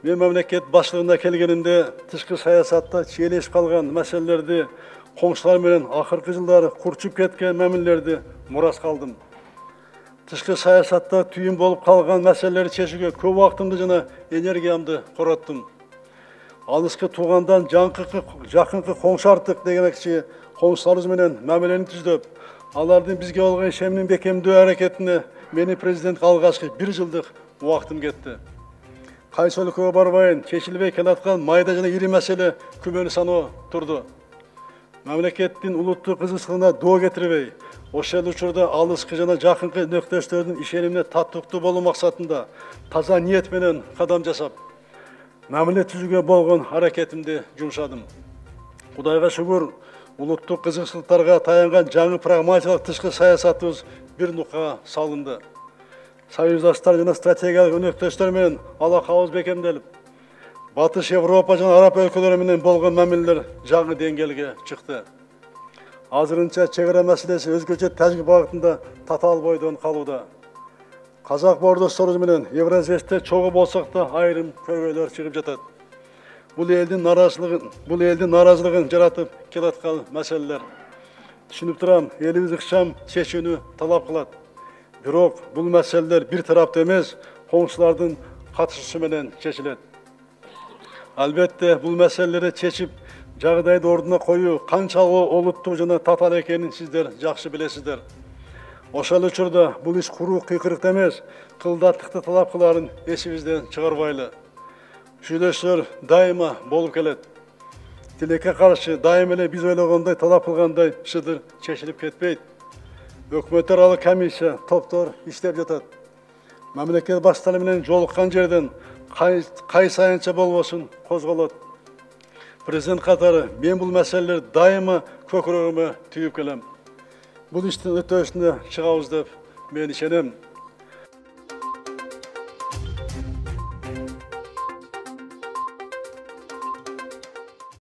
Мен мамлекет башчылыгына келгенимде тышкы саясатта чиелешип калган маселелерди, коңшулар менен акыркы жылдары курчуп кеткен мамилелерди мурас калдым. Тышкы саясатта түйүн болуп калган маселелерди чечүүгө көп убактымды жана энергиямды короттум. Алыскы туугандан жакынкы коңшу артык дегенекчи коңшуларыбыз менен мамилени түздөп, алардын бизге болгон ишенимин бекемдөө аракетине мени президентке алгачкы 1 жылдык убактым кетти. Кайсы өлкөгө барбайын, чечилбей келаткан майда жана ири маселе күмөнү саноо турду. Мамлекеттин улуттук кызыкчылыгына доо кетирбей, ошол учурда алыскы жана жакынкы өнөктөштөрдүн ишенимине татыктуу болуу максатында таза ниет менен кадам жасап, мамиле түзүүгө болгон аракетимди жумшадым. Кудайга шүгүр, улуттук кызыкчылыктарга таянган жаңы прагматикалык тышкы саясатыбыз бир нукка салынды. Союздаштар жана стратегиялык өнөктөштөр менен алакабыз бекемделип, Батыш Европа жана Араб өлкөлөрү менен болгон мамилелер жаңы деңгээлге чыкты. Азырынча чек ара маселеси өзгөчө тажик багытында татаал бойдон калууда. Казак боордошторубуз менен Евразияликте чогуу болсок да айрым көйгөйлөр чыгып жатат. Бул элдин нааразылыгын жаратып келаткан маселелер. Түшүнүп турам, элибиз ыкчам чечүүнү талап кылат. Бирок бул маселелер бир тараптуу эмес, коңшулардын катышуусу менен чечилет. Албетте, бул маселелерди чечип, жагдайды ордуна коюу канчалык олуттук жана татаал экенин сиздер жакшы билесиздер. Ошол учурда бул иш куруу кыйкырыкты эмес, кылдаттыкты талап кылаарын эсибизден чыгарбайлы. Шүйлөшүүлөр дайыма болуп келет. Тилекке каршы дайым эле биз ойлогондой талап кылгандай шыдыр чечилип кетпейт. Өкмөт аралык комиссия, топтор иштеп жатат. Мамлекет баштары менен жолуккан жерден кай сайынча болбосун козголот. Президент катары мен бул маселелерди дайыма көкүрөгүмө түйүп келем. Бул иштин өтөшүнө чыгабыз деп мен ишенем.